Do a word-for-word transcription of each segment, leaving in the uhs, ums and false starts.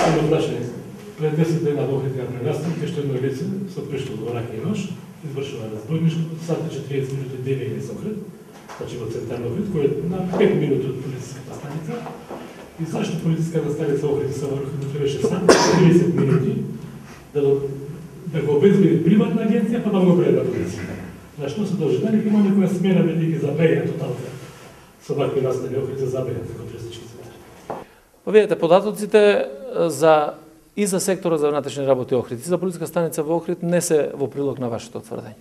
само прашање. Пред десет дена во Охрид ја пренастан, што едно лице со пришло во рака и нож, извршува разбойничко, сат и четириесет минути девење со Охрид, значи во центарно Охрид, кој е на пет минути од полициската станица. И зашто полициската станица Охрид се врхуваше само тридесет минути да, да го обезбеди приватна агенција, па да го преда полиција. На што се должи? Дали има некоја смена бидејќи забеја тоталка со вакви настани Охрид се забеја како туристички центар? Па видете, податоците за и за секторот за внатрешни работи Охрид и за полициска станица во Охрид не се во прилог на вашето тврдење.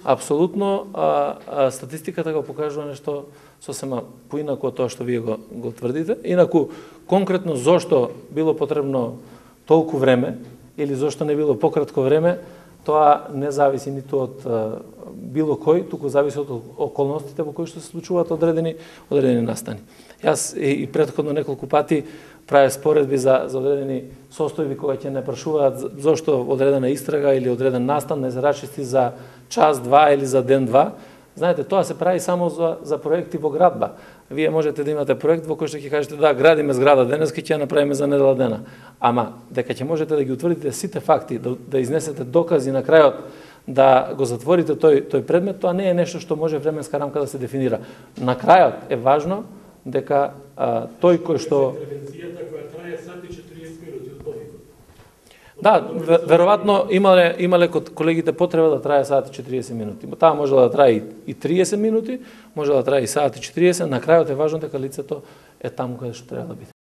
Апсолутно, а, а, статистиката го покажува нешто сосема поинаку од тоа што вие го, го тврдите. Инаку, конкретно зошто било потребно толку време или зошто не било пократко време, тоа не зависи ниту од а, било кој, туку зависи од околностите во кои што се случуваат одредени одредени настани. Јас и, и претходно неколку пати праве споредби за, за одредени состојби кога ќе не прашуваат зошто одредена истрага или одреден настан не се рачисти за час, два или за ден, два. Знаете, тоа се прави само за, за проекти во градба. Вие можете да имате проект во кој што ќе кажете да, градиме зграда денес, ќе ја направиме за недела дена. Ама, дека ќе можете да ги утврдите сите факти, да, да изнесете докази на крајот, да го затворите тој, тој предмет, тоа не е нешто што може временска рамка да се дефинира. На крајот е важно дека а, тој кој што... Интервенцијата која трае сат и четириесет минути од повикот. Да, веројатно имале, имале колегите потреба да трае сат и четириесет минути. Таа може да трае и триесет минути, може да трае и сат и четириесет, на крајот е важно дека лицето е таму каде што треба да биде.